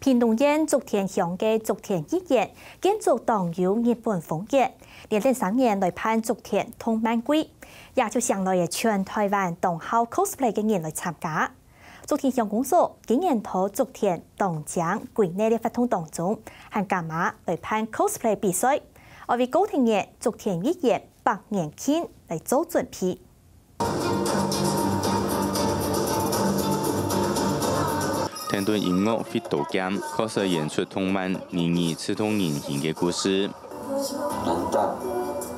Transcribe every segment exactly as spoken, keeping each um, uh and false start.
屏東縣竹田鄉个竹田藝園，建築當有日本風格，連等三年來辦竹田動漫季，也就請來个全臺灣當好cosplay个人來參加。竹田鄉公所今年在竹田當靚規劃个活動當中，還加碼來辦cosplay比賽，愛為高鐵月竹田藝園百年慶來做準備。 聽著音樂會多減，確實演出動漫人與刺痛人心个故事。難道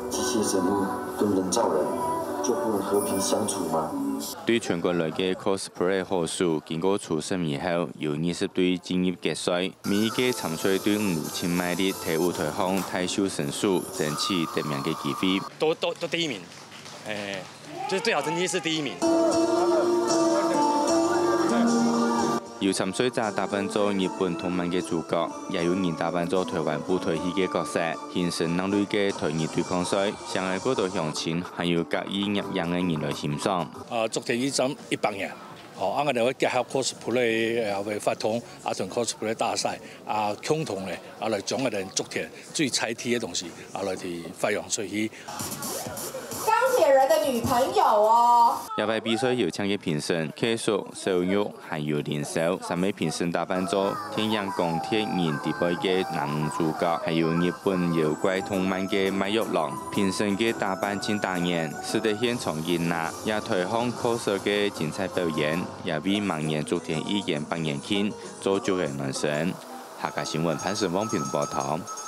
機械生物跟人造人就不能和平相處嗎？對全國來个cosplay好手，經過初審以後，有二十隊進入決賽。每一個參賽隊伍盡賣力在舞台項大秀身手，爭取得名个機會。都都都第一名，哎，就是最好成績是第一名。有參賽者打扮做日本動漫个主角，也有人打扮做臺灣布袋戲个角色，形成另類个台日對抗賽，上海過多鄉親，還有甲意攝影个人來欣賞。啊，竹田一站一百年，哦，啊，𠊎兜會結合cosplay个活動，啊，同cosplay大賽，啊，共同个，啊，來將𠊎兜竹田最在地个東西，啊，來去發揚出去。鋼鐵人的女朋友哦。這擺比賽有請个評審，K叔、小玉還有林少，三位評審打扮做電影《鋼鐵人》裡背个男主角，還有日本妖怪動漫个賣藥郎。評審个打扮盡打眼，使得現場熱鬧，這臺項cos个精彩表演，也為明年竹田藝園百年慶做足个暖身。客家新聞潘成旺屏東報導。